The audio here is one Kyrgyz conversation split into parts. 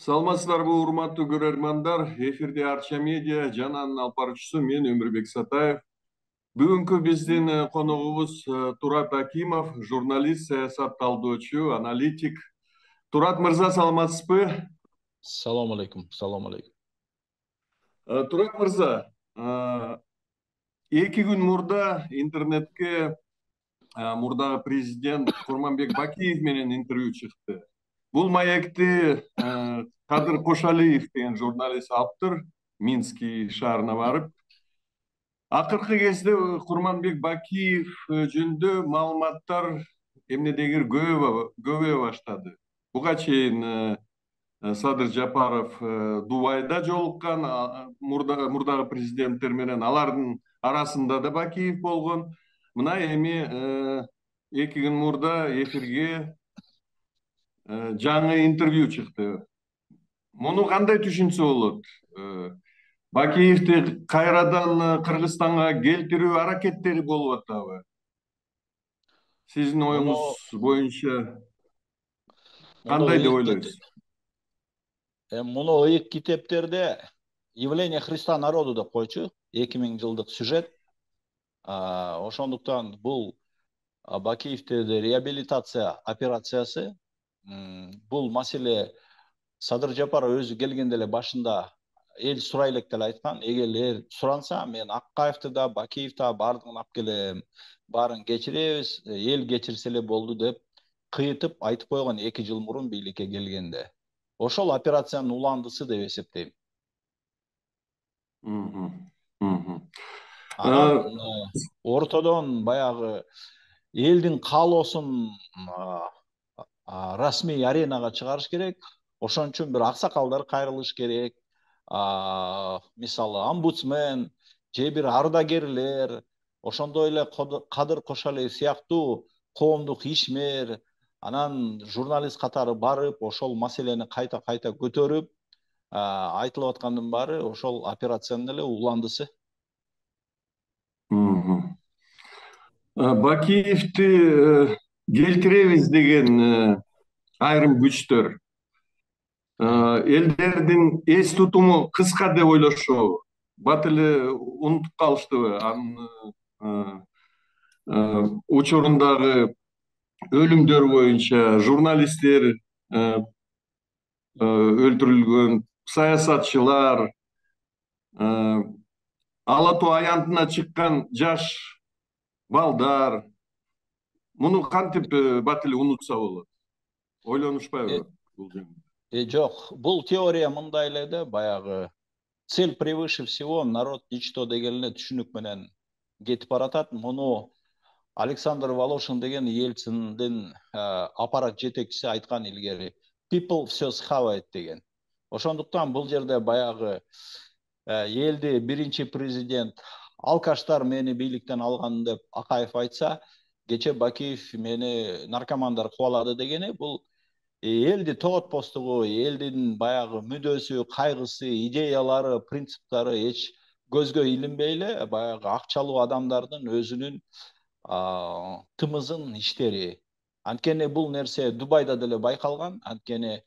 Саламатсыздарбы, урматтуу көрөрмандар. Эфирде Арча медиа жананын алып баруучусу мен Өмүрбек Сатаев. Бүгүнкү биздин коногубуз Турат Акимов, журналист, саясат талдоочу, аналитик. Турат мырза, саламатсызбы? Салам алейкум. Турат мырза, 2 күн мурда интернетке мурдагы президент Курманбек Бакиев менен интервью чыкты. Бул маекти Кадыр Кошалиев деген журналист алыптыр, Минский шаарына барып. Акыркы кезде Курманбек Бакиев жөнүндө маалыматтар эмнедегир көбөйө баштады. Буга чейин Садыр Жапаров Дубайда жолуккан, мурдагы президенттер менен алардын арасында да Бакиев болгон. Мына эми 2 күн мурда эфирге жаңы интервью чыкты. Муну кандай түшүнсө болот? Бакиевди кайрадан Кыргызстанга келтирүү аракеттери болуп атабы? Сиздин оюңуз боюнча кандай деп ойлойсуз? Муну ыйык китептерде «Явление Христа народу» деп койчу, 2000 жылдык сюжет. Ошондуктан бул Бакиевдеги реабилитация операциясы. Бул маселе Садыр Жапаров өзү келгенде эле башында эл сурай элек деле айткан. Эгер суранса, мен Аккаевди да, Бакиевди да баардыгын алып келем, баарын кечиребиз, эл кечирсе эле болду деп кыйытып айтып койгон 2 жыл мурун бийликке келгенде. Ошол операциянын уландысы деп эсептейм. Анан ортодон баягы элдин каалоосун расмий аренага чыгарыш керек. Ошон үчүн бир аксакалдар кайрылыш керек. Мисалы омбудсмен же бир ардагерлер, ошондой эле Кадыр Кошалиев сыяктуу коомдук ишмер, анан журналист катары барып, ошол маселени кайта көтөрүп, айтылып аткандын баары ошол операциянын эле уландысы. Бакиевди келтиребиз деген айрым күчтөр элдердин эс тутуму кыска деп ойлошобу? Бат эле унутуп калыштыбы анын учурундагы өлүмдөр боюнча? Журналисттер өлтүрүлгөн, саясатчылар, ала тоо аянтына чыккан жаш балдар. Муну кантип бат эле унутса болот? Ойлонушпайбы бул жөнүндө? Жок, бул теория мындай эле да, баягы цель превыше всего, народ ничто деген эле түшүнүк менен кетип баратат. Муну Александр Волошин деген Ельциндин аппарат жетекчиси айткан илгери. People все схавает деген. Ошондуктан бул жерде баягы элди биринчи президент алкаштар мени бийликтен алган деп Акаев айтса, кече Бакиев мени наркомандар кубалады дегени, бул элди тоготпостугу, элдин баягы мүдөөсү, кайгысы, идеялары, принциптары эч көзгө илинбей эле баягы акчалуу адамдардын өзүнүн тымызын иштери. Анткени бул нерсе Дубайда деле байкалган. Анткени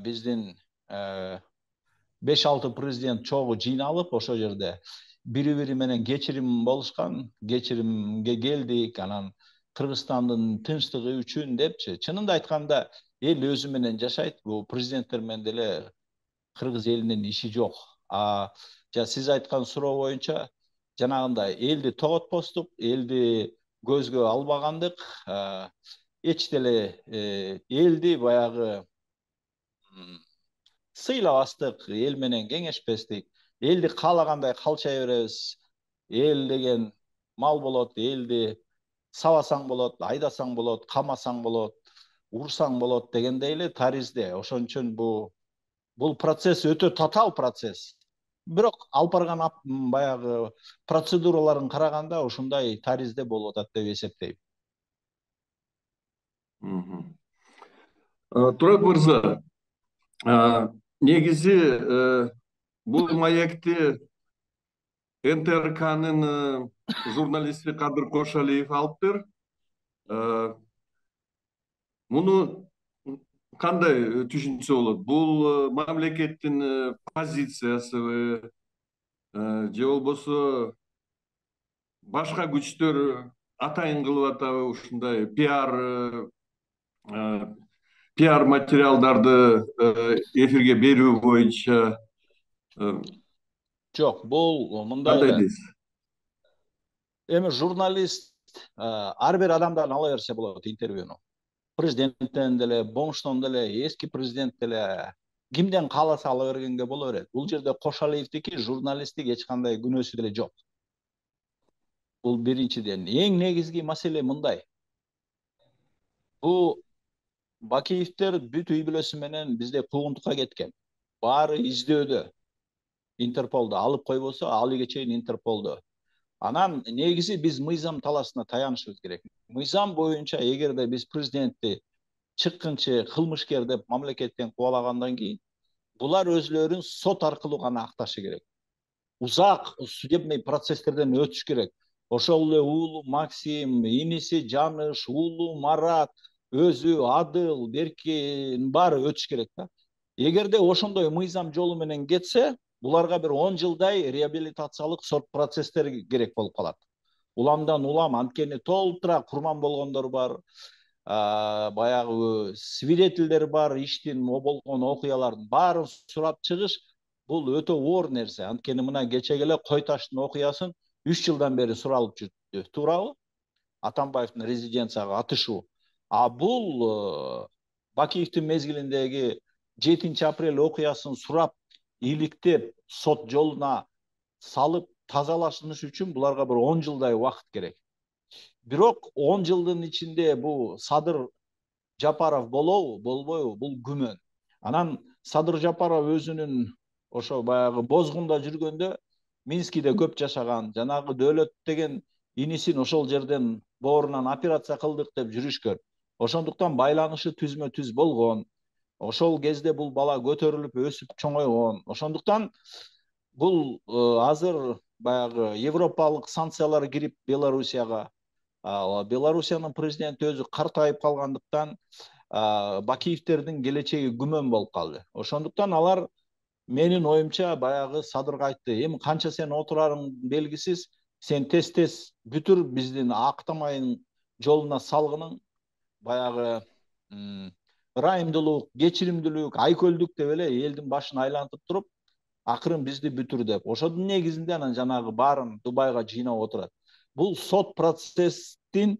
биздин 5-6 президент чогуу жыйналып ошол жерде бири менен кечирим болушкан, кечиримге келдик, анан Кыргызстандын тынчтыгы үчүн депчи. Чынында айтканда эл өзү менен жашайт. Бул президенттер менен деле кыргыз элинин иши жок. Сиз айткан суроо боюнча жанагындай элди тоготпостук, элди көзгө албагандык, эч деле элди баягы сыйлабастык, эл менен кеңешпестик, элди каалагандай калчай беребиз. Эл деген мал болот, элди сабасаң болот, айдасаң болот, камасаң болот, урсаң болот дегендей эле таризде. Ошон үчүн бул процесс өтө татаал процесс. Бирок алып барган баягы процедураларын караганда ушундай таризде болуп атат деп эсептейм. Турат мырза, негизи бул маекти НТРКнын журналисти Кадыр Кошалиев алыптыр. Муну кандай түшүнсө болот? Бул мамлекеттин позициясыбы же болбосо башка күчтөр атайын кылып атабы ушундай пиар материалдарды эфирге берүү боюнча Жок, бул мындай кандай эле. дейсиз? Эми журналист ар бир адамдан ала берсе болот интервьюну. Президенттен деле, Бонштон деле, эски президент деле кимден кааласа ала бергенге боло берет. Бул жерде Кошалиевдики журналисттик эч кандай күнөөсү деле жок. Бул биринчиден. Эң негизги маселе мындай. Бул Бакиевдер бүт үй бүлөсү менен бизде куугунтукка кеткен. Баары издөөдө. Интерполдо алып койбосо, алыга чейин Интерполдо. Анан негизи биз мыйзам талаасына таянышыбыз керек. Мыйзам боюнча эгерде биз президентти чыккынчы кылмышкер деп мамлекеттен кубалагандан кийин булар өзлөрүн сот аркылуу гана акташы керек. Узак судебный процесстерден өтүш керек. Ошол эле уулу Максим, иниси Жаныш, уулу Марат, өзү Адыл, Беркин баары өтүш керек да. Эгерде ошондой мыйзам жолу менен кетсе, буларга бир 10 жылдай реабилитациялык сот процесстери керек болуп калат. Уламдан улам анткени толтура курман болгондор бар, баягы свидетелдер бар, иштин болгон окуялардын баарын сурап чыгыш бул өтө оор нерсе. Анткени мына кечеге эле Кой таштын окуясын 3 жылдан бери суралып жүрдү. Туурабы? Атамбаевдин резиденцияга атышуу. А бул Бакиевдин мезгилиндеги 7 апрель окуясын сурап, иликтеп, сот жолуна салып тазалашыныш үчүн буларга бир 10 жылдай убакыт керек. Бирок 10 жылдын ичинде бул Садыр Жапаров болобу, болбойбу, бул күмөн. Анан Садыр Жапаров өзүнүн ошо баягы бозгунда жүргөндө Минскиде көп жашаган, жанагы Дөөлөт деген инисин ошол жерден боорунан операция кылдык деп жүрүшкөн. Ошондуктан байланышы түзмө түз болгон. Ошол кезде бул бала көтөрүлүп өсүп чоңойгон. Ошондуктан бул азыр баягы европалык санкциялар кирип Белоруссияга, Белоруссиянын президенти өзү картайып калгандыктан Бакиевдердин келечеги күмөн болуп калды. Ошондуктан алар менин оюмча баягы Садырга айтты: эми канча сен отурарың белгисиз, сен тез бүтүр, биздин актамайын жолуна салгының баягы ырайымдуулук, кечиримдүүлүк, айкөлдүк деп эле элдин башын айлантып туруп, акырын бизди бүтүр деп. Ошонун негизинде анан жанагы баарын Дубайга жыйнап отурат. Бул сот процесстин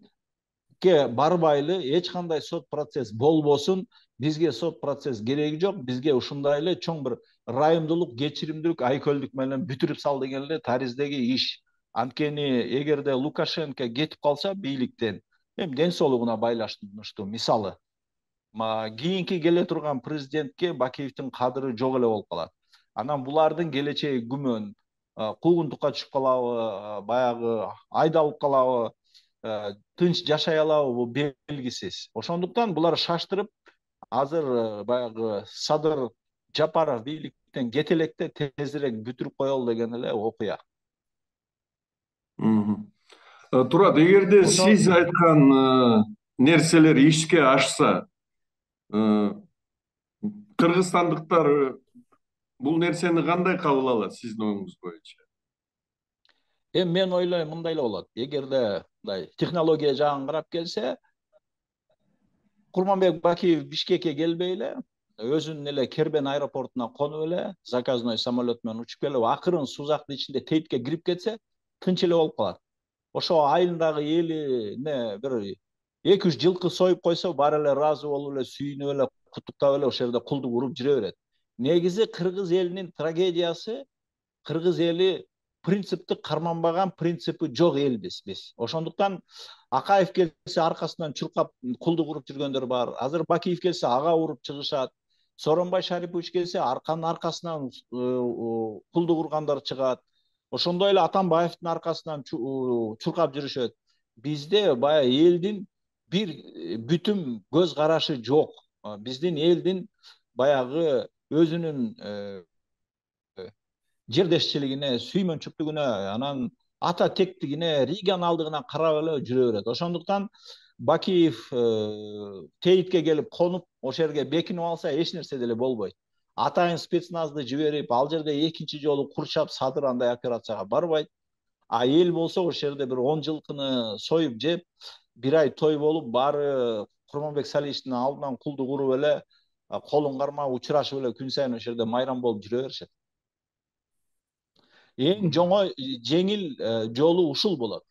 барбайлы, эч кандай сот процесс болбосун, бизге сот процесс кереги жок, бизге ушундай эле чоң бир ырайымдуулук, кечиримдүүлүк, айкөлдүк менен бүтүрүп сал деген эле тариздеги иш. Анткени эгерде Лукашенко кетип калса бийликтен, эми ден соолугуна байланыштуу, мисалы, кийинки келе турган президентке Бакиевдин кадыры жок эле болуп калат. Анан булардын келечеги күмөн, куугунтукка түшүп калабы, баягы айдалып калабы, тынч жашай алабы, бул белгисиз. Ошондуктан булар шаштырып, азыр баягы Садыр Жапаров бийликтен кете электе тезирээк бүтүрүп коелу деген эле окуя. Турат, эгерде сиз айткан нерселер ишке ашса, кыргызстандыктар бул нерсени кандай кабыл алат сиздин оюңуз боюнча? Эми мен ойлойм мындай эле болот. Эгерде мындай технология жагын карап келсе, Курманбек Бакиев Бишкекке келбей эле, өзүнүн эле Кербен аэропортуна конуп эле, заказной самолет менен учуп келип, акырын Сузактын ичинде Тейтке кирип кетсе, тынч эле болуп калат. Ошо айылдагы элине бир 2-3 жылкы союп койсо, баары эле ыраазы болуп эле, сүйүнүп эле, куттуктап эле ошол жерде кулдук уруп жүрө берет. Негизи кыргыз элинин трагедиясы, кыргыз эли принципти карманбаган, принципи жок элбиз биз. Ошондуктан Акаев келсе аркасынан чуркап кулдук уруп жүргөндөр бар. Азыр Бакиев келсе ага уруп чыгышат. Сооронбай Шарипович келсе арканын аркасынан кулдук ургандар чыгат. Ошондой эле Атамбаевдин аркасынан чуркап жүрүшөт. Бизде баягы элдин бир бүтүм көз карашы жок. Биздин элдин баягы өзүнүн жердешчилигине, сүймөнчүктүгүнө, анан ата тектигине, регионалдыгына карап эле жүрө берет. Ошондуктан Бакиев Тейитке келип конуп ошол жерге бекинип алса эч нерсе деле болбойт. Атайын спецназды жиберип ал жерде экинчи жолу курчап Садыр андай операцияга барбайт. А эл болсо ошол жерде бир 10 жылкыны союп жеп, бир ай той болуп, баары Курманбек Салиховичтин алдынан кулдук уруп эле, колун кармап учурашып эле күн сайын ошол жерде майрам болуп жүрө беришет. Эң жеңил жолу ушул болот.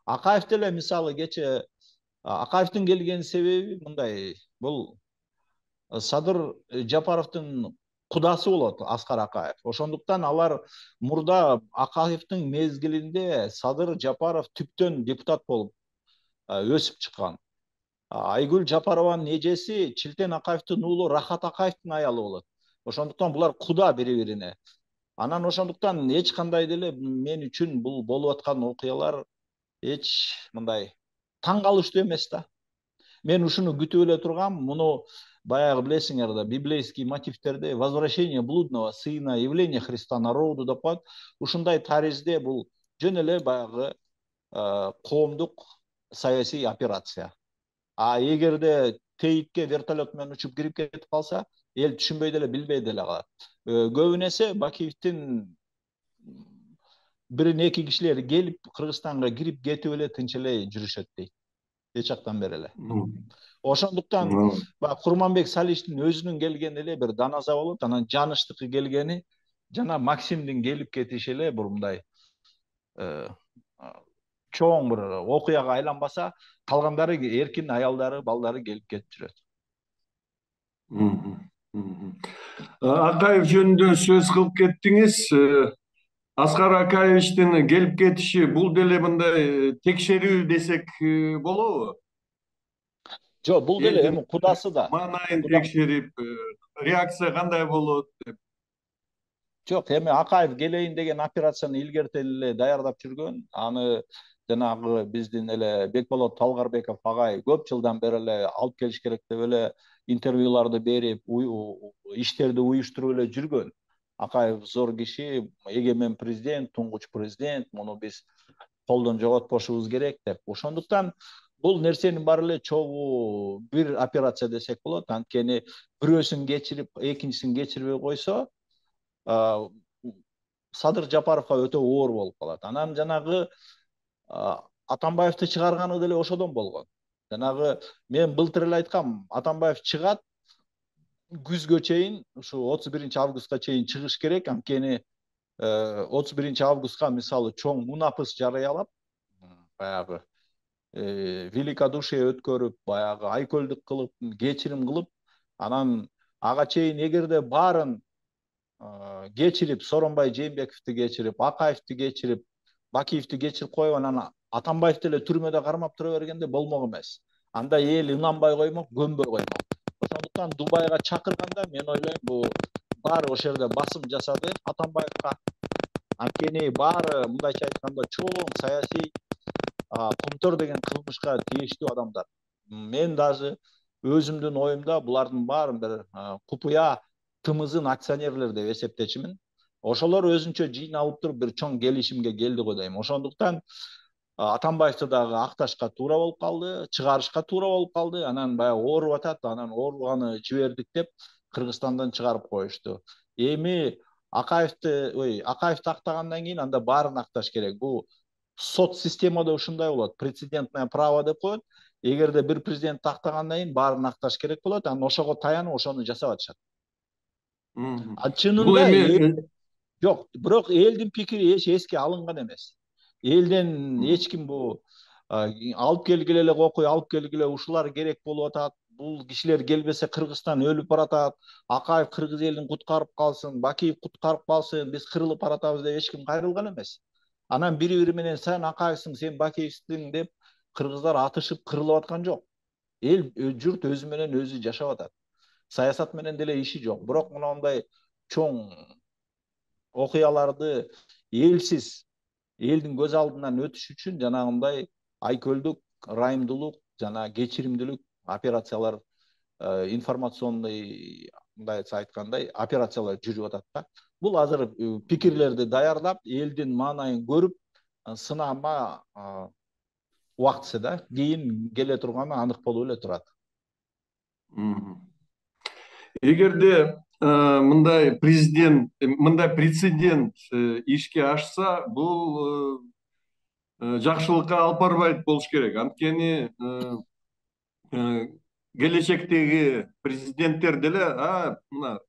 Акаев деле мисалы кече Акаевдин келген себеби мындай, бул Садыр Жапаровдун кудасы болот Аскар Акаев. Ошондуктан алар мурда Акаевдин мезгилинде Садыр Жапаров түптөн депутат болуп өсүп чыккан. Айгүл Жапарованын эжеси Чилтен Акаевдин уулу Рахат Акаевдин аялы болот. Ошондуктан булар куда бири-бирине. Анан ошондуктан эч кандай деле мен үчүн бул болуп аткан окуялар эч мындай таң калыштуу эмес да. Мен ушуну күтүп эле тургам. Муну баягы билесиңер да, библейский мотивтерде возвращение блудного сына, явление Христа народу деп коет. Ушундай таризде бул жөн эле баягы коомдук саясий операция. А эгерде Тейитке вертолет менен учуп кирип кетип калса, эл түшүнбөй деле билбей деле калат. Көбүн эсе Бакиевдин бирин эки кишилер келип Кыргызстанга кирип кетип эле тынч эле жүрүшөт дейт. Эч жактан бери эле. Ошондуктан Курманбек Салиховичтин өзүнүн келгени эле бир даназа болот. Анан Жаныштыкы келгени жана Максимдин келип кетиши эле бир мындай чоң бир окуяга айланбаса, калгандары эркин аялдары, балдары келип кетип жүрөт. Акаев жөнүндө сөз кылып кеттиңиз. Аскар Акаевичтин келип кетиши бул деле мындай текшерүү десек болобу? Жок, бул деле эми кудасы да. Маанайын текшерип, реакция кандай болот деп. Жок, эми Акаев келейин деген операцияны илгертен эле даярдап жүргөн. Аны жанагы биздин эле Бекболот Талгарбеков агай көп жылдан бери эле алып келиш керек деп эле интервьюларды берип, иштерди уюштуруп эле жүргөн. Акаев зор киши, эгемен президент, туңгуч президент, муну биз колдон жоготпошубуз керек деп. Ошондуктан бул нерсенин баары эле чогуу бир операция десек болот. Анткени бирөөсүн кечирип, экинчисин кечирбей койсо, Садыр Жапаровго өтө оор болуп калат. Анан жанагы Атамбаевди чыгарганы деле ошодон болгон. Жанагы мен былтыр эле айткам, Атамбаев чыгат, күзгө чейин, ушу 31-августка чейин чыгыш керек. Анткени 31-августка мисалы чоң мунапыс жарыялап, баягы великодушие өткөрүп, баягы айкөлдүк кылып, кечирим кылып, анан ага чейин эгерде баарын кечирип, Сооронбай Жээнбековду кечирип, Акаевди кечирип, Бакиевди кечирип коюп, анан Атамбаевди эле түрмөдө кармап тура бергенде болмок эмес. Анда эл ынанбай коймок, көнбөй коймок. Ошондуктан Дубайга чакырганда мен ойлойм, бул баары ошол жерде басым жасады Атамбаевга. Анткени баары мындайча айтканда чоң саясий Кумтөр деген кылмышка тийиштүү адамдар. Мен даже өзүмдүн оюмда булардын баарын бир купуя тымызын акционерлер деп эсептечимин. Ошолор өзүнчө жыйналып туруп бир чоң келишимге келди го дейм. Ошондуктан Атамбаевди дагы акташка туура болуп калды, чыгарышка туура болуп калды. Анан баягы ооруп атат, анан ооруганы жибердик деп Кыргызстандан чыгарып коюшту. Эми Акаевди актагандан кийин анда баарын акташ керек. Бул сот системада ушундай болот. Прецедентное право деп коет. Эгерде бир президент актагандан кийин баарын акташ керек болот, анан ошого таянып ошону жасап атышат. Чынында жок, бирок элдин пикири эч эске алынган эмес. Элден эч ким бул алып келгиле эле окуй, алып келгиле, ушулар керек болуп атат. Бул кишилер келбесе Кыргызстан өлүп баратат. Акаев кыргыз элин куткарып калсын, Бакиев куткарып калсын, биз кырылып баратабыз деп эч ким кайрылган эмес. Анан бири-бири менен сен Акаевсиң, сен Бакиевсиң деп кыргыздар атышып кырылып аткан жок. Эл журт өзү менен өзү жашап атат. Саясат менен деле иши жок. Бирок мындай чоң окуяларды элсиз, элдин көз алдынан өтүш үчүн жанагындай айкөлдүк, ырайымдуулук жана кечиримдүүлүк операциялар, информационный мындайча айткандай операциялар жүрүп атат да. Бул азыр пикирлерди даярдап, элдин маанайын көрүп, сынама убактысы да кийин келе турганы анык болуп эле турат. Эгерде мындай прецедент ишке ашса, бул жакшылыкка алып барбайт болуш керек. Анткени келечектеги президенттер деле мына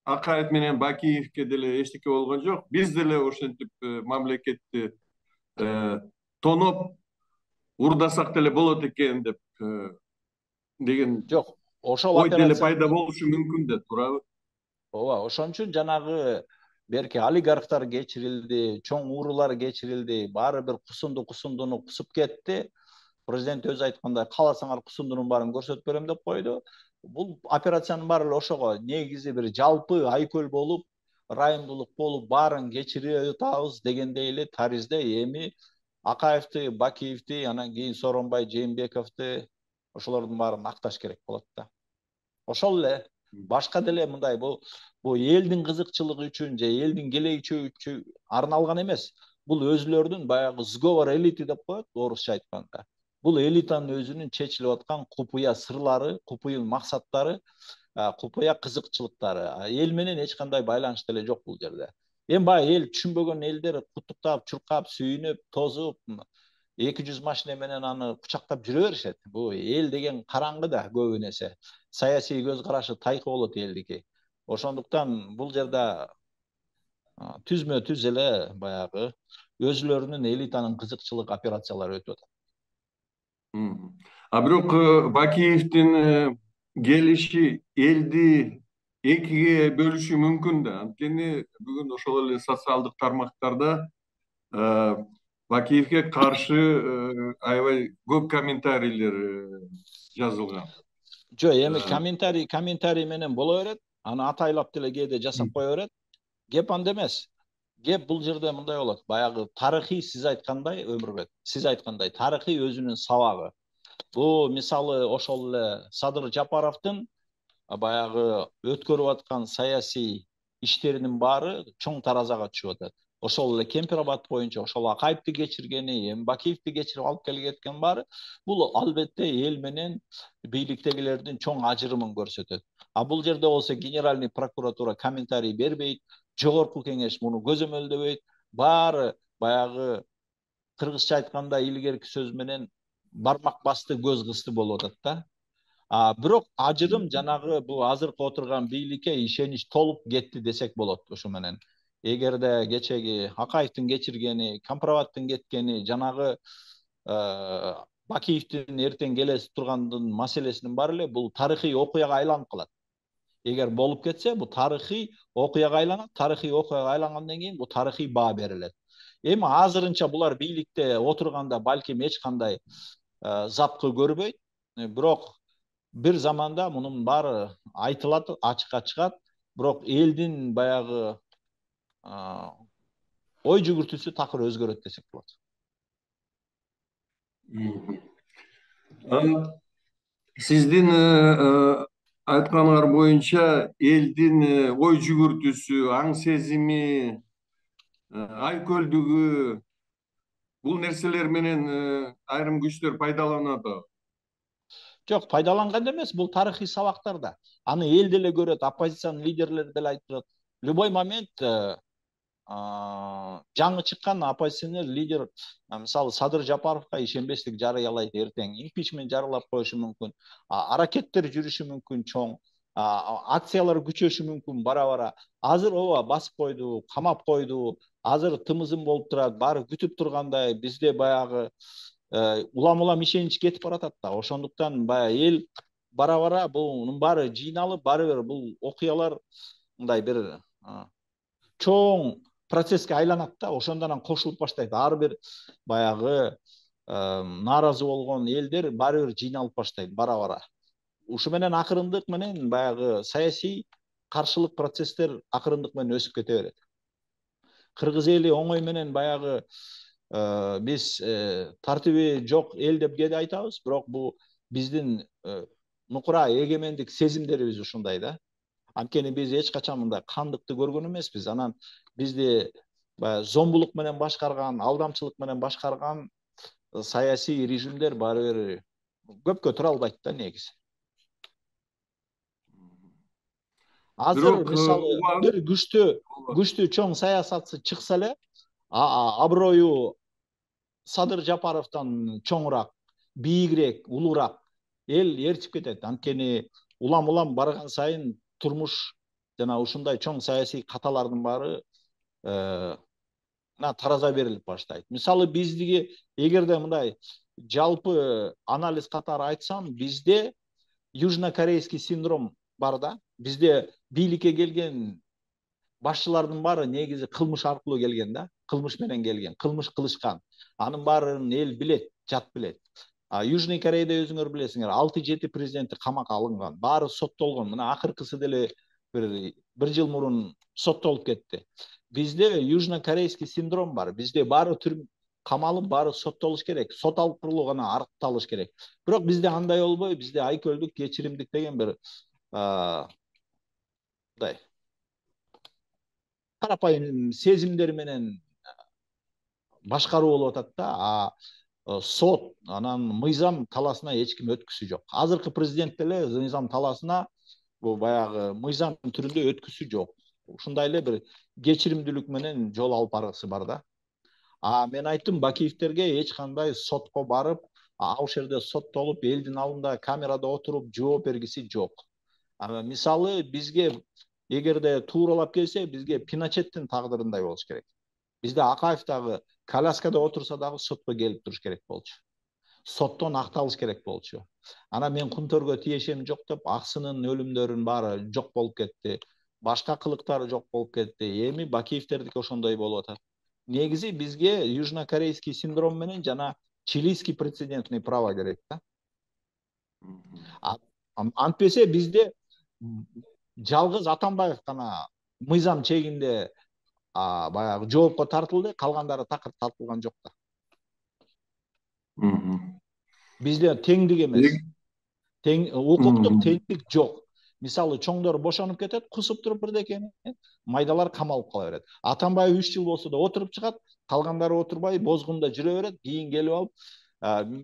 Акаев менен Бакиевке деле эчтеке болгон жок. Биз деле ошентип мамлекетти тоноп урдасак деле болот экен деп деген Жок, ошол ой деле операция пайда болушу мүмкүн да, туурабы? ооба, ошон үчүн жанагы берки олигархтар кечирилди, чоң уурулар кечирилди, баары бир кусундуну кусуп кетти. Президент өзү айткандай, кааласаңар кусундунун баарын көрсөтүп берем деп койду. Бул операциянын баары эле ошого негизи бир жалпы айкөл болуп, ырайымдуулук болуп, баарын кечирип атабыз дегендей эле таризде эми Акаевди, Бакиевди, анан кийин Сооронбай Жээнбековду ошолордун баарын акташ керек болот да. Ошол эле башка деле мындай бул элдин кызыкчылыгы үчүн же элдин келечеги үчүн арналган эмес. Бул өзүлөрүнүн баягы сговор элиты деп коет орусча айтканда. Бул элитанын өзүнүн чечилип аткан купуя сырлары, купуя максаттары, купуя кызыкчылыктары. Эл менен эч кандай байланыш деле жок бул жерде. Эми баягы эл түшүнбөгөн элдер куттуктап, чуркап, сүйүнүп, тозуп, 200 машина менен аны кучактап жүрө беришет. Бул эл деген караңгы да көбү нерсе. Саясий көз карашы тайкы болот элдики. Ошондуктан бул жерде түзмө түз эле баягы өзүлөрүнүн элитанын кызыкчылык операциялары өтүп атат. Бирок Бакиевдин келиши элди экиге бөлүшү мүмкүн да. Анткени бүгүн ошол эле социалдык тармактарда Бакиевге каршы аябай көп комментарийлер жазылган. Жок, эми комментарий менен боло берет. Аны атайлап деле кээде жасап кое берет. Кеп анда эмес. Кеп бул жерде мындай болот. Баягы тарыхый сиз айткандай, Өмүрбек, сиз айткандай тарыхый өзүнүн сабагы. Бул мисалы ошол эле Садыр Жапаровдун баягы өткөрүп аткан саясий иштеринин баары чоң таразага түшүп атат. Ошол эле Кемпир-Абад боюнча ошол Акаевди кечиргени, эми Бакиевди кечирип алып келген баары бул албетте эл менен бийликтегилердин чоң ажырымын көрсөтөт. Бул жерде болсо Генеральный прокуратура комментарий бербейт, жогорку кеңеш муну көзөмөлдөбөйт. Баары баягы кыргызча айтканда илгерки сөз менен бармак басты, көз кысты болуп атат да. Бирок ажырым жанагы бул азыркы отурган бийликке ишенич толуп кетти десек болот ушу менен. Эгерде кечеги Акаевдин кечиргени, Кемпир-Абадтын кеткени, жанагы Бакиевдин эртең келе тургандын маселесинин баары эле бул тарыхый окуяга айланып калат. Эгер болуп кетсе, бул тарыхый окуяга айланат, тарыхый окуяга айлангандан кийин бул тарыхый баа берилет. Эми азырынча булар бийликте отурганда балким эч кандай запкы көрбөйт, бирок бир заманда мунун баары айтылат, ачыкка чыгат, бирок элдин баягы ой жүгүртүүсү такыр өзгөрөт десек болот. Сиздин айтканыңар боюнча элдин ой жүгүртүүсү, аң сезими, айкөлдүгү бул нерселер менен айрым күчтөр пайдаланат. Жок, пайдаланган эмес, бул тарыхый сабактар да. Аны эл деле көрөт, оппозициянын лидерлери деле айтып турат. Любой момент жаңы чыккан оппозиционер лидер, мисалы Садыр Жапаровго ишенбестик жарыялайт эртең, импичмент жарыялап коюшу мүмкүн, аракеттер жүрүшү мүмкүн чоң, акциялар күчөшү мүмкүн бара-бара. Азыр ооба басып койду, камап койду, азыр тымызым болуп турат, баары күтүп тургандай, бизде баягы улам ишенич кетип баратат да. Ошондуктан баягы эл бара-бара бунун баары жыйналып, баары бир бул окуялар мындай бир чоң процесске айланат да. Ошондон кошулуп баштайт. Ар бир баягы нааразы болгон элдер баары бир жыйналып баштайт бара-бара. Ушу менен акырындык менен баягы саясий каршылык процесстер акырындык менен өсүп кете берет. Кыргыз эли оңой менен баягы биз тартиби жок эл деп кээде айтабыз, бирок бул биздин нукура эгемендик сезимдерибиз ушундай да. Анткени биз эч качан мындай кандыкты көргөн эмеспиз. Анан бизди зомбулук менен башкарган, алдамчылык менен башкарган саясий режимдер баары бир көпкө тура албайт да негизи. Азыр Бирок мисалы бир күчтүү чоң саясатчы чыкса эле аброю Садыр Жапаровдон чоңураак, бийигирээк, улуураак эл ээрчип кетет. Анткени улам барган сайын турмуш жана ушундай чоң саясий каталардын баары тараза берилип баштайт. Мисалы биздики эгерде мындай жалпы анализ катары айтсам, бизде южнокорейский синдром бар да. Бизде бийликке келген башчылардын баары негизи кылмыш аркылуу келген да. Кылмыш менен келген, кылмыш кылышкан. Анын баарын эл билет, жат билет. Южный Кореяда өзүңөр билесиңер, 6-7 президенти камакка алынган, баары соттолгон. Мына акыркысы деле бир жыл мурун соттолуп кетти. Бизде южнокорейский синдром бар. Бизде баары камалып, баары соттолуш керек. Сот аркылуу гана аркталыш керек. Бирок бизде андай болбой, бизде айкөлдүк, кечиримдик деген бир мындай карапайым сезимдер менен башкаруу болуп атат да. Сот, анан мыйзам таласына эч ким өткүсү жок. Азыркы президент деле мыйзам таласына бул баягы мыйзам түрүндө өткүсү жок. Ушундай эле бир кечиримдүүлүк менен жол алып баргысы бар да. Мен айттым, Бакиевтерге эч кандай сотко барып, ал жерде соттолуп, элдин алдында камерада отуруп жооп бергиси жок. Мисалы бизге эгерде тууралап келсе, бизге Пиночеттин тагдырындай болуш керек. Бизде Акаев дагы коляскада отурса дагы сотко келип туруш керек болчу. Соттон акталыш керек болчу. Анан мен Кунтөргө тиешем жок деп, аксынын өлүмдөрүн баары жок болуп кетти. Башка кылыктары жок болуп кетти. Эми Бакиевтердики ошондой болуп атат. Негизи бизге южнокорейский синдром менен жана чилийский прецедентный право керек да. Антпесе бизде жалгыз Атамбаев гана мыйзам чегинде баягы жоопко тартылды, калгандары такыр тартылган жок да. Бизде теңдик эмес. Укуктук теңдик жок. Мисалы чоңдор бошонуп кетет, кусуп туруп бирдекени, майдалар камалып кала берет. Атамбаев 3 жыл болсо да отуруп чыгат, калгандары отурбай бозгунда жүрө берет, кийин келип алып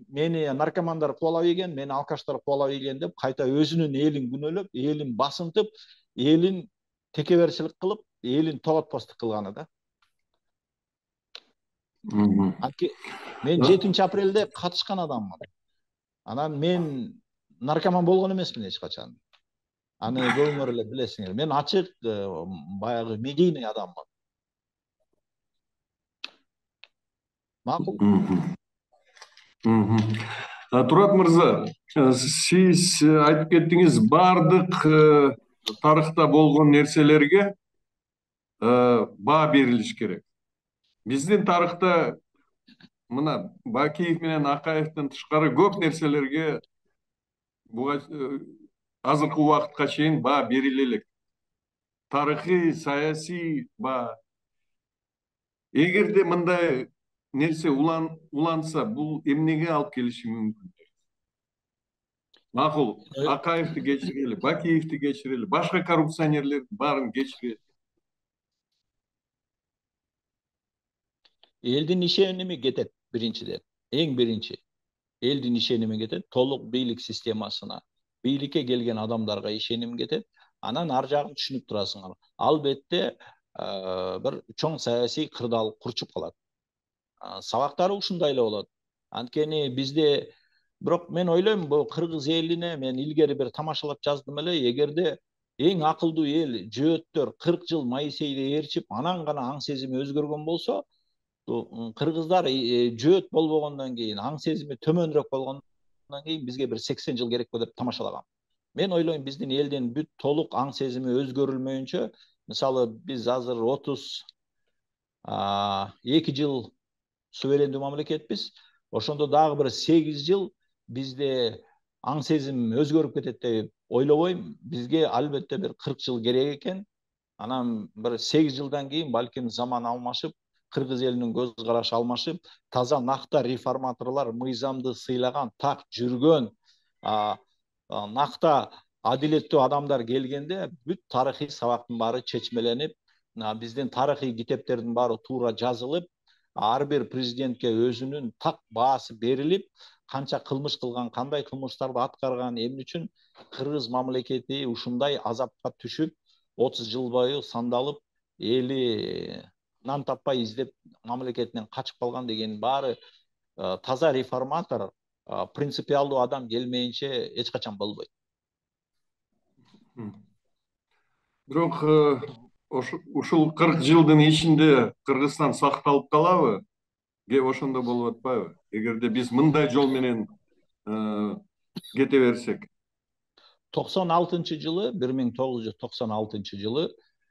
мени наркомандар кубалап ийген, мени алкаштар кубалап ийген деп кайта өзүнүн элин күнөөлөп, элин басынтып, элин текеберчилик кылып, элин тоготпостук кылганы да. Мен 7 апрелде катышкан адаммын. Анан мен наркоман болгон эмесмин эч качан. Аны көбүңөр эле билесиңер. Мен ачык, баягы медийный адаммын. Макул? Турат мырза, сиз айтып кеттиңиз, бардык тарыхта болгон нерселерге баа берилиш керек. Биздин тарыхта мына Бакиев менен Акаевдин тышкары көп нерселерге азыркы убакытка чейин баа бериле элек. Тарыхый, саясий баа. Эгерде мындай нерсе уланса, бул эмнеге алып келиши мүмкүн? Макул, Акаевди кечирели, Бакиевди кечирели, башка коррупционерлердин баарын кечирели. Элдин ишеними кетет биринчиден. Эң биринчи. Элдин ишеними кетет, толук бийлик системасына, бийликке келген адамдарга ишеним кетет. Анан ар жагын түшүнүп турасыңар. Албетте бир чоң саясий кырдаал курчуп калат. Сабактары ушундай эле болот. Анткени бизде, бирок мен ойлойм, бул кыргыз элине мен илгери бир тамашалап жаздым эле, эгерде эң акылдуу эл жөөттөр 40 жыл Моисейди ээрчип, анан гана аң сезими өзгөргөн болсо, кыргыздар жөөт болбогондон кийин, аң сезими төмөнүрөөк болгондон кийин бизге бир 80 жыл керекпи деп тамашалагам. Мен ойлойм, биздин элдин бүт толук аң сезими өзгөрүлмөйүнчө, мисалы биз азыр 32 жыл суверендүү мамлекетпиз. Ошондо дагы бир 8 жыл бизде аң сезим өзгөрүп кетет деп ойлобойм. Бизге албетте бир 40 жыл керек экен. Анан бир 8 жылдан кийин балким заман алмашып, кыргыз элинин көз карашы алмашып, таза накта реформаторлор, мыйзамды сыйлаган, так жүргөн, накта адилеттүү адамдар келгенде бүт тарыхый сабактын баары чечмеленип, биздин тарыхый китептердин баары туура жазылып, ар бир президентке өзүнүн так баасы берилип, канча кылмыш кылган, кандай кылмыштарды аткарган, эмне үчүн кыргыз мамлекети ушундай азапка түшүп, 30 жыл бою сандалып, эли нан таппай издеп мамлекетинен качып калган деген баары таза реформатор, принципиалдуу адам келмейинче эч качан болбойт. Бирок ушул 40 жылдын ичинде Кыргызстан сакталып калабы? Кеп ошондо болуп атпайбы? Эгерде биз мындай жол менен кете берсек. 96-жылы, 1996-жылы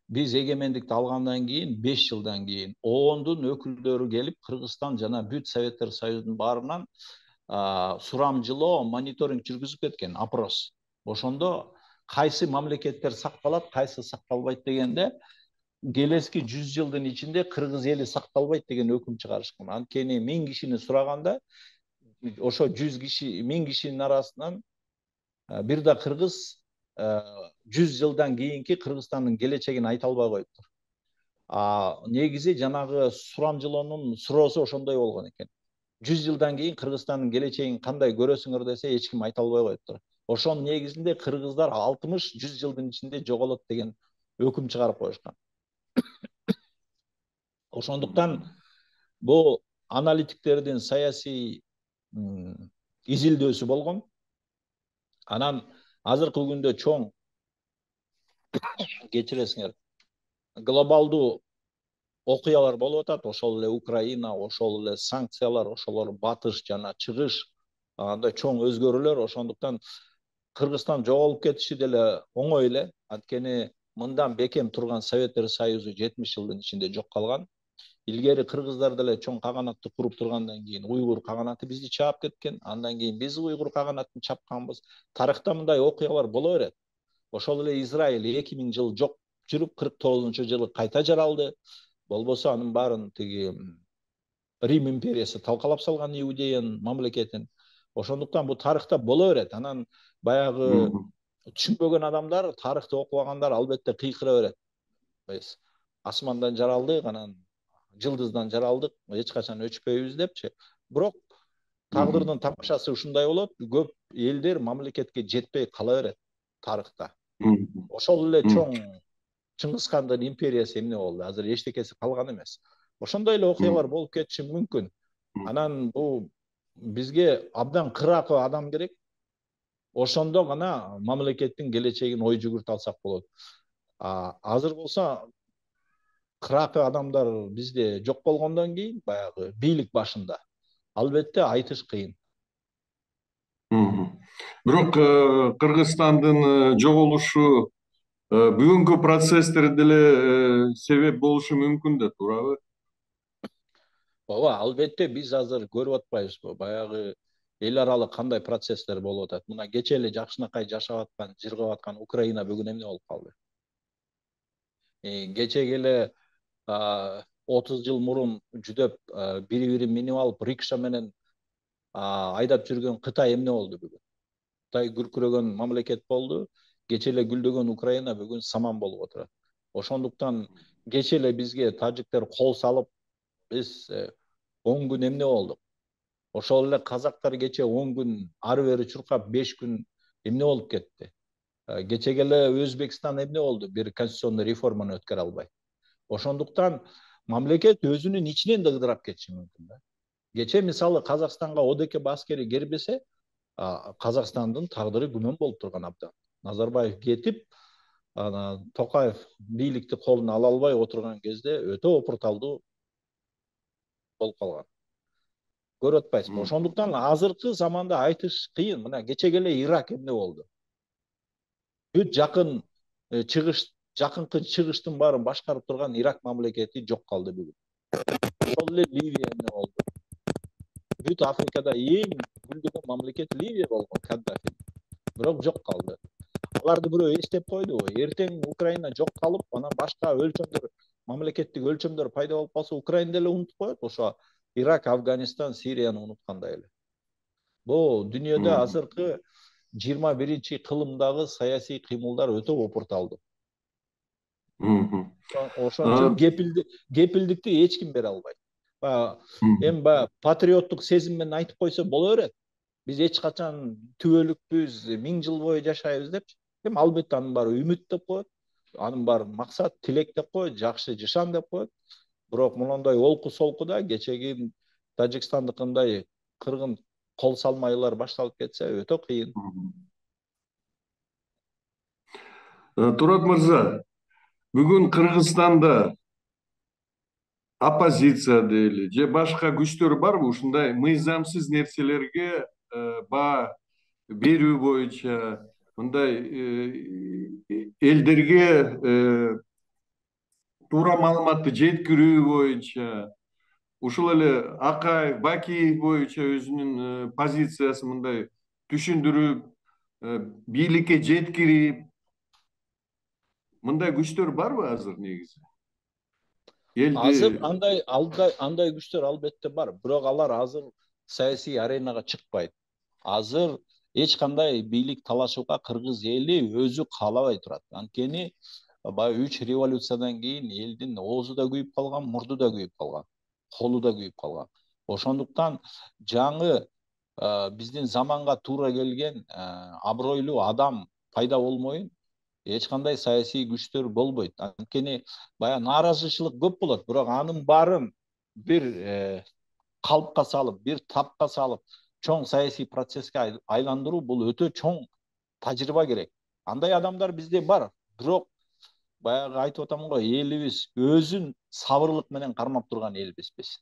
биз эгемендикти алгандан кийин 5 жылдан кийин ООНдун өкүлдөрү келип Кыргызстан жана бүт Советтер Союзунун баарынан сурамжылоо, мониторинг жүргүзүп кеткен, опрос. Ошондо кайсы мамлекеттер сакталат, кайсы сакталбайт дегенде, келески 100 жылдын ичинде кыргыз эли сакталбайт деген өкүм чыгарышкан. Анткени 1000 кишини сураганда, ошо 100 киши, 1000 кишинин арасынан бир да кыргыз 100 жылдан кийинки Кыргызстандын келечегин айта албай коюптур. Негизи жанагы сурамжылоонун суроосу ошондой болгон экен. 100 жылдан кийин Кыргызстандын келечегин кандай көрөсүңөр десе, эч ким айта албай коюптур. Ошонун негизинде кыргыздар 60-100 жылдын ичинде жоголот деген өкүм чыгарып коюшкан. Ошондуктан бул аналитиктердин саясий изилдөөсү болгон. Анан азыркы күндө чоң кечиресиңер, глобалдуу окуялар болуп атат. Ошол эле Украина, ошол эле санкциялар, ошолор батыш жана чыгыш, андай чоң өзгөрүүлөр. Ошондуктан Кыргызстан жоголуп кетиши деле оңой эле. Анткени мындан бекем турган Советтер Союзу 70 жылдын ичинде жок калган. Илгери кыргыздар деле чоң каганатты куруп тургандан кийин уйгур каганаты бизди чаап кеткен. Андан кийин биз уйгур каганатын чапканбыз. Тарыхта мындай окуялар боло берет. Ошол эле Израиль 2000 жыл жок жүрүп, 49-жылы кайта жаралды. Болбосо анын баарын тиги Рим империясы талкалап салган, Иудеянын мамлекетин. Ошондуктан бул тарыхта боло берет. Анан баягы түшүнбөгөн адамдар, тарыхты окубагандар албетте кыйкыра берет. Биз асмандан жаралдык, анан жылдыздан жаралдык, эч качан өчпөйбүз депчи. Бирок тагдырдын тамашасы ушундай болот. Көп элдер мамлекетке жетпей кала берет тарыхта. Ошол эле чоң Чыңгызхандын империясы эмне болду? Азыр эчтекеси калган эмес. Ошондой эле окуялар болуп кетиши мүмкүн. Анан бул бизге абдан кыракы адам керек. Ошондо гана мамлекеттин келечегин ой жүгүртө алсак болот. Азыр болсо кыракы адамдар бизде жок болгондон кийин, баягы бийлик башында, албетте айтыш кыйын. Бирок Кыргызстандын жоголушу бүгүнкү процесстер деле себеп болушу мүмкүн да, туурабы? Ооба, албетте биз азыр көрүп атпайбызбы? Баягы эл аралык кандай процесстер болуп атат. Мына кече эле жакшынакай жашап аткан, жыргап аткан Украина бүгүн эмне болуп калды? Кечеги эле 30 жыл мурун жүдөп бири-бирин минип алып рикша менен айдап жүргөн Кытай эмне болду бүгүн? Кытай күркүрөгөн мамлекет болду. Кече эле гүлдөгөн Украина бүгүн саман болуп отурат. Ошондуктан кече эле бизге тажиктер кол салып, биз 10 күн эмне болдук? Ошол эле казактар кече 10 күн ары бери чуркап 5 күн эмне болуп кетти? Кечеге эле Өзбекстан эмне болду? Бир конституционный реформаны өткөрө албай. Ошондуктан мамлекет өзүнүн ичинен да ыдырап кетиши мүмкүн да. Кече мисалы Казакстанга ОДКБ аскери кирбесе, Казакстандын тагдыры күмөн болуп турган абдан. Назарбаев кетип, Токаев бийликти колуна ала албай отурган кезде өтө опурталдуу болуп калган. Көрүп атпайсызбы? Ошондуктан азыркы заманда айтыш кыйын. Мына кечеге эле Ирак эмне болду? Бүт жакынкы чыгыштын баарын башкарып турган Ирак мамлекети жок калды бүгүн. Ошол эле Ливия эмне болду? Бүт Африкада эң гүлдөгөн мамлекет Ливия болгон, Каддафи. Бирок жок калды. Аларды бирөө эстеп койдубу? Эртең Украина жок калып, анан башка өлчөмдөр, мамлекеттик өлчөмдөр пайда болуп калса, Украина деле унутуп коет. Ошо Ирак, Афганистан, Сирияны унуткандай эле. Бул дүйнөдө азыркы 21-кылымдагы саясий кыймылдар өтө опурталдуу. Ошон үчүн кепилдикти эч ким бере албайт. Эми баягы патриоттук сезим менен айтып койсо боло берет. Биз эч качан түбөлүкпүз, 1000 жыл бою жашайбыз депчи. Эми албетте анын баары үмүт деп коет. Анын баары максат, тилек деп коет, жакшы жашан деп коет. Бирок мондай олку солкуда кечеги Тажикстандыкындай кыргын кол салмайлар башталып кетсе өтө кыйын. Турат мырза, бүгүн Кыргызстанда оппозиция дейли же башка күчтөр барбы ушундай мыйзамсыз нерселерге баа берүү боюнча, мындай элдерге туура маалыматты жеткирүү боюнча, ушул эле Акаев, Бакиев боюнча өзүнүн позициясын мындай түшүндүрүп, бийликке жеткирип, мындай күчтөр барбы азыр негизи? Азыр Элди андай күчтөр албетте бар, бирок алар азыр саясий аренага чыкпайт. Азыр эч кандай бийлик талашууга кыргыз эли өзү каалабай турат. Анткени баягы 3 революциядан кийин элдин оозу да күйүп калган, мурду да күйүп калган, колу да күйүп калган. Ошондуктан жаңы биздин заманга туура келген абройлуу адам пайда болмойын эч кандай саясий күчтөр болбойт. Анткени баягы нааразычылык көп болот, бирок анын баарын бир калпка салып, бир тапка салып, чоң саясий процесске айландыруу бул өтө чоң тажрыйба керек. Андай адамдар бизде бар, бирок баягы айтып атам го, элибиз өзүн сабырлык менен кармап турган элбиз биз.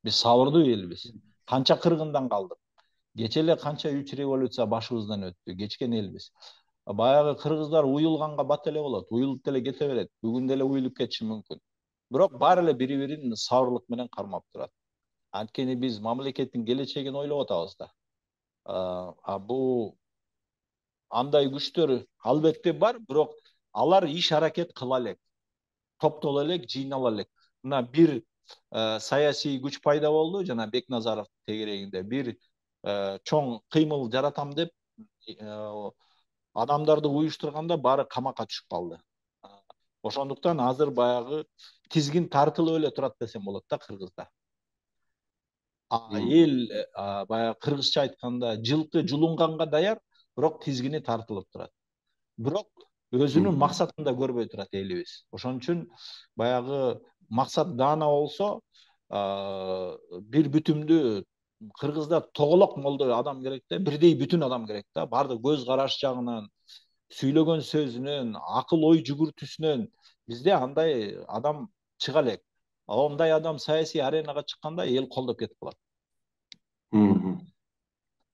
Биз сабырдуу элбиз. Канча кыргындан калдык. Кече эле канча 3 революция башыбыздан өттү, кечкен элбиз. Баягы кыргыздар уюлганга бат эле болот, уюлуп деле кете берет, бүгүн деле уюлуп кетиши мүмкүн. Бирок баары эле бири бирин сабырлык менен кармап турат. Анткени биз мамлекеттин келечегин ойлоп атабыз да. Бул андай күчтөр албетте бар, бирок алар иш аракет кыла элек, топтоло элек, жыйнала элек. Мына бир саясий күч пайда болду, жана Бекназаров тегерегинде бир чоң кыймыл жаратам деп адамдарды уюштурганда баары камакка түшүп калды. Ошондуктан азыр баягы тизгин тартылып эле турат десем болот да Кыргызда. Эл баягы кыргызча айтканда жылкы жулунганга даяр, бирок тизгини тартылып турат. Бирок өзүнүн максатын да көрбөй турат элибиз. Ошон үчүн баягы максат даана болсо, бир бүтүмдүү Кыргызда тоголок молдой адам керек да, бирдей бүтүн адам керек да, баардык көз караш жагынан, сүйлөгөн сөзүнөн, акыл ой жүгүртүүсүнөн бизде андай адам чыга элек. Ондай адам саясий аренага чыкканда эл колдоп кетип калат.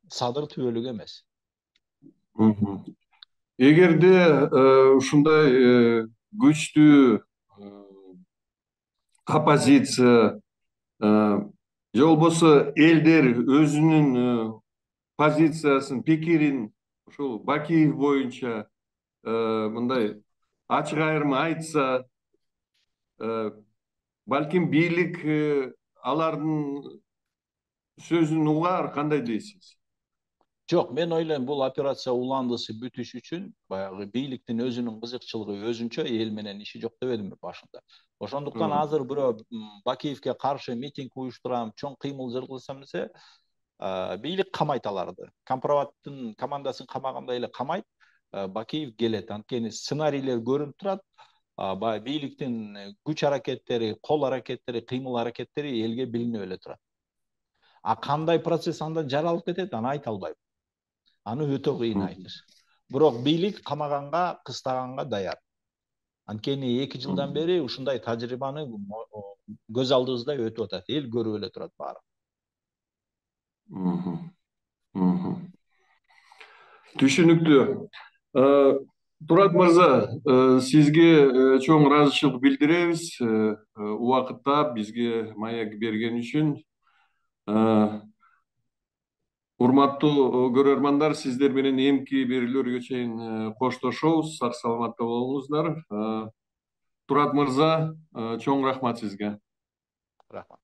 Садыр түбөлүк эмес. Эгерде ушундай күчтүү оппозиция же болбосо элдер өзүнүн позициясын, пикирин ушул Бакиев боюнча мындай ачык айырма айтса, балким бийлик алардын сөзүн угаар, кандай дейсиз? Жок, мен ойлойм бул операция уландысы бүтүш үчүн баягы бийликтин өзүнүн кызыкчылыгы өзүнчө, эл менен иши жок дебедимби башында. Ошондуктан азыр бирөө Бакиевке каршы митинг уюштурам, чоң кыймыл жүргүзсөм десе, бийлик камайт аларды. Компроматтын командасын камагандай эле камайт, Бакиев келет. Анткени сценарийлер көрүнүп турат, баягы бийликтин күч аракеттери, кол аракеттери, кыймыл аракеттери элге билинип эле турат. Кандай процесс андан жаралып кетет, аны айта албайм. Аны өтө кыйын айтыш. Бирок бийлик камаганга, кыстаганга даяр. Анткени 2 жылдан бери ушундай тажрыйбаны көз алдыбызда өтүп атат. Эл көрүп эле турат баары. Түшүнүктүү. Турат мырза, сизге чоң ыраазычылык билдиребиз. Убакытта бизге маек берген үчүн. Урматтуу көрөрмандар, сиздер менен эмки берүүлөргө чейин коштошобуз. Сак саламатта болуңуздар. Турат мырза, чоң рахмат сизге. Рахмат.